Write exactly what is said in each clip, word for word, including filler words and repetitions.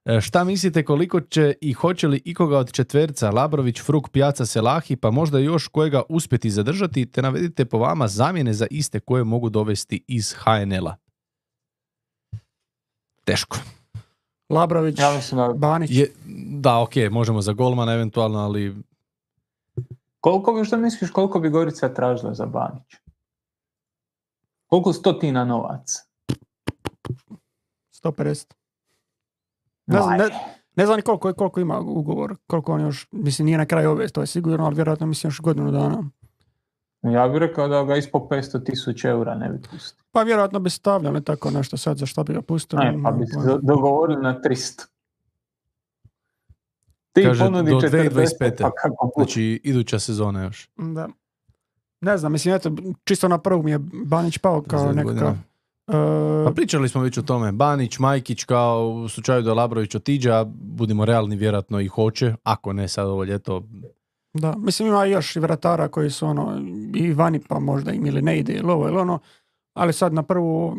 E, šta mislite koliko će i hoće li ikoga od četverca, Labrović, Fruk, Pjaca, Selahi, pa možda još kojega uspjeti zadržati, te navedite po vama zamjene za iste koje mogu dovesti iz ha en el-a? Teško. Labrović, Ja mislim da... Banić. Je, da, ok, možemo za golmana eventualno, ali... Koliko bi, što misliš, koliko bi Gorica tražila za Banić? Koliko stotina novaca? sto pedeset. Ne znam, ne, ne znam ni koliko, koliko ima ugovor, koliko on još, mislim, nije na kraju ove, to je sigurno, ali vjerojatno mislim još godinu dana. Ja bih rekao da ga ispod petsto tisuća eura ne bi pustio. Pa vjerojatno bi stavljali tako nešto sad, za što bi ga pustili. Ne, pa bi se dogovorili na tristo. Ti kaže, ponudi do četrdeset, dvije tisuće dvadeset pete. pa kako bude. Znači, iduća sezona još. Da. Ne znam, mislim, eto, čisto na prvog mi je Banić pao kao nekakav... Uh, pa pričali smo već o tome. Banić, Majkić, kao u slučaju da Labrović otiđe, a budimo realni, vjerojatno i hoće, ako ne sad ovo ljeto. Da, mislim ima još i vratara koji su ono, i vani pa možda im ili ne ide ili ovo ili ono, ali sad na prvu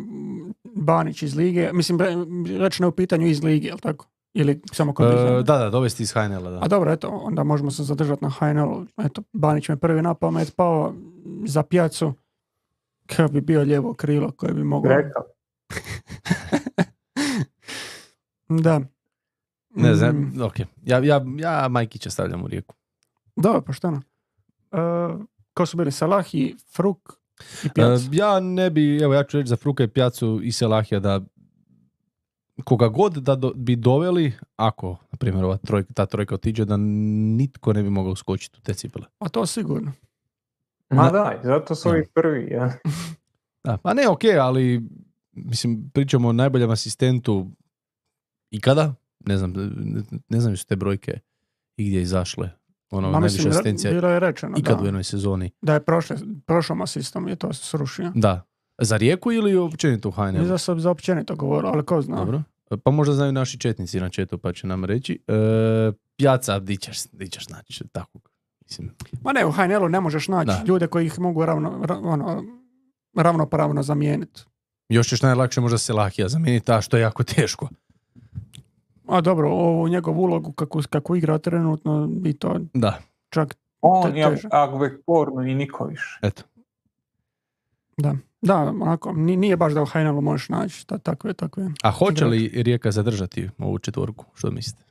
Banić iz lige, mislim reći ne u pitanju iz lige, jel tako? Ili samo kod e, Da, da, dovesti iz ha en el-a, da. A dobro, eto, onda možemo se zadržati na ha en el-u. Eto, Banić me prvi na pamet pao za Pjacu, kao bi bio lijevo krilo koje bi moglo... Rekao. Da. Ne znam, mm. ok. Ja, ja, ja Majkića stavljam u Rijeku. Da, pošteno. Uh, ko su bili Selahi, Fruk i Pjaca? Uh, ja ne bi, evo ja ću reći za Fruka i Pjacu i Selahija da koga god da do, bi doveli, ako, na primjer, ova trojka, ta trojka otiđe, da nitko ne bi mogao skočiti u te cipele. A to sigurno. Ma na, da, zato su ovi prvi, ja. Da, pa ne, ok, ali mislim, pričamo o najboljem asistentu ikada, ne znam, ne, ne znam su te brojke i gdje izašle. Ono, Ma, najviše mislim, asistencija bilo je rečeno, ikad da. U jednoj sezoni. Da je prošle, prošlom asistom je to srušio. Da. Za Rijeku ili općenito u ha en el-u? Za, za općenito govorio, ali ko zna. Dobro. Pa možda znaju naši četnici na četu, pa će nam reći. E, Pjaca, di ćeš, di ćeš naći takvog. Mislim. Ma ne, u ha en el-u ne možeš naći da. Ljude koji ih mogu ravno, ono, ravnopravno zamijeniti. Još ćeš najlakše možda Selahija zamijeniti, a što je jako teško. A dobro, ovu njegovu ulogu kako, kako igra trenutno i to da. Čak on je Agvekporno i niko više. Eto. Da, da, onako, nije baš da u ha en el-u možeš naći ta, takve, takve. A hoće li Rijeka zadržati ovu četvorku? Što mislite?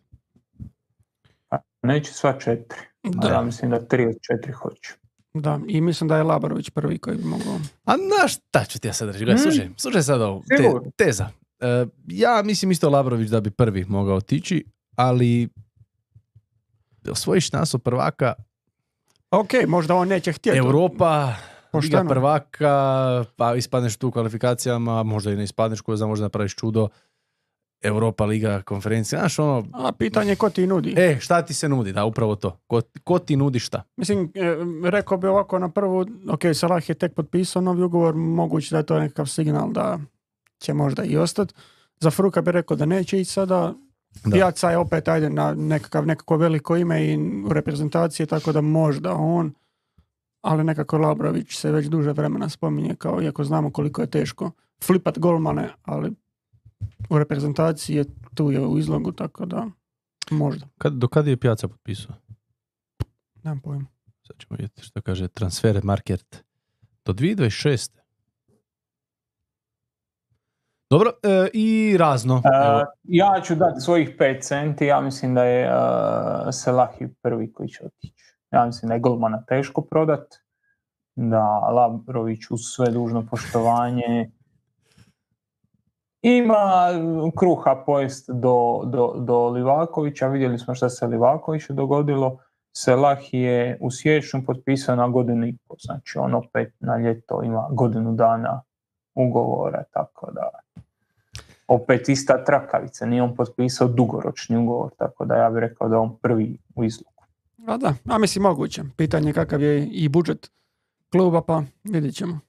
Pa, neće sva četiri. Da. Ja mislim da tri od četiri hoće. Da, i mislim da je Labrović prvi koji bi mogao. A na šta ću ti ja sad reći? Mm. Slušaj, slušaj sad ovo. Te, teza. E, ja mislim isto Labrović da bi prvi mogao otići, ali osvojiš naso prvaka. Ok, možda on neće htjeti. Europa, Liga prvaka, pa ispadneš tu u kvalifikacijama, možda i ne ispadneš, ko zna, možda napraviš čudo. Europa, Liga, konferencija, znaš ono... A pitanje je ko ti nudi. E, šta ti se nudi, da, upravo to. Ko, ko ti nudi šta? Mislim, e, rekao bi ovako na prvu, ok, Salah je tek potpisao novi ugovor, moguće da je to nekakav signal da će možda i ostati. Za Fruka bi rekao da neće ići sada. Pjaca je opet, ajde, na nekakav, nekako veliko ime i u reprezentaciji, tako da možda on, ali nekako Labrović se već duže vremena spominje, kao iako znamo koliko je teško flipat golmane, ali u reprezentaciji je tu je u izlogu, tako da možda. Kad, do kada je Pjaca potpisao? Nemam pojma. Sad ćemo vidjeti što kaže transfer market. Do dvije tisuće dvadeset šeste. Dobro, e, i razno. Uh, ja ću dati svojih pet centi, ja mislim da je uh, Selahi prvi koji će otići. Ja mislim da je golmana teško prodat, da Labrović uz sve dužno poštovanje ima kruha pojest do, do, do Livakovića. Vidjeli smo što se Livakoviću dogodilo. Selah je u siječnju potpisao na godinu i pol. Znači on opet na ljeto ima godinu dana ugovora, tako da opet ista trakavica. Nije on potpisao dugoročni ugovor, tako da ja bih rekao da on prvi u izluku. A da, a mislim moguće. Pitanje kakav je i budžet kluba, pa vidjet ćemo.